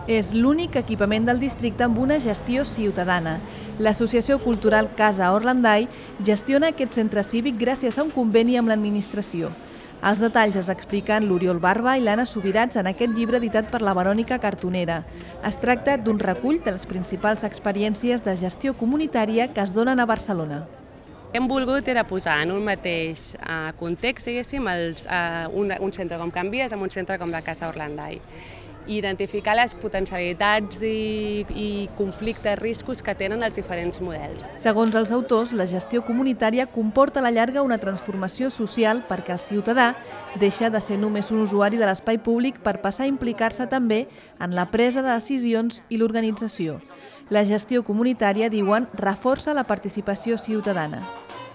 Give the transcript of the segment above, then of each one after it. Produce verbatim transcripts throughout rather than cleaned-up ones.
És l'únic equipament del districte amb una gestió ciutadana. L'Associació Cultural Casa Orlandai gestiona aquest centre cívic gràcies a un conveni amb l'administració. Els detalls es expliquen l'Oriol Barba i l'Anna Subirats en aquest llibre editat per la Verònica Cartonera. Es tracta d'un recull de les principals experiències de gestió comunitària que es donen a Barcelona. Hem volgut era posar en un mateix context, diguéssim, un centre com Can Vies amb un centre com la Casa Orlandai. Identificar les potencialitats i, i conflictes, riscos que tenen els diferents models. Segons els autors, la gestió comunitària comporta a la llarga una transformació social perquè el ciutadà deixa de ser només un usuari de l'espai públic per passar a implicar-se també en la presa de decisions i l'organització. La gestió comunitària, diuen, reforça la participació ciutadana.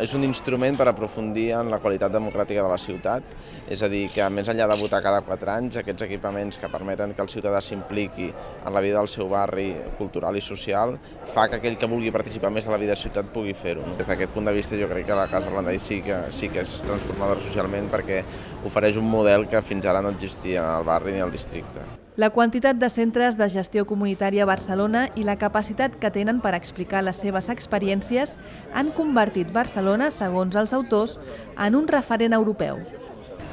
És un instrument per aprofundir en la qualitat democràtica de la ciutat, és a dir, que més enllà de votar cada quatre anys, aquests equipaments que permeten que el ciutadà s'impliqui en la vida del seu barri cultural i social, fa que aquell que vulgui participar més de la vida de la ciutat pugui fer-ho. Des d'aquest punt de vista jo crec que la Casa Orlandai sí que, sí que és transformadora socialment perquè ofereix un model que fins ara no existia al barri ni al districte. La quantitat de centres de gestió comunitària a Barcelona i la capacitat que tenen per explicar les seves experiències han convertit Barcelona, segons els autors, en un referent europeu.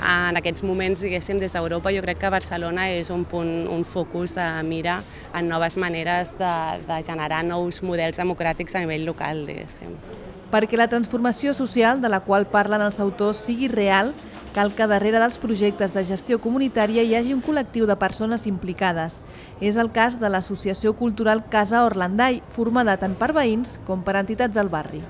En aquests moments, diguéssim, des d'Europa, jo crec que Barcelona és un punt, un focus de mira en noves maneres de, de generar nous models democràtics a nivell local, diguéssim. Perquè la transformació social de la qual parlen els autors sigui real, cal que darrere dels projectes de gestió comunitària hi hagi un col·lectiu de persones implicades. És el cas de l'Associació Cultural Casa Orlandai, formada tant per veïns com per entitats del barri.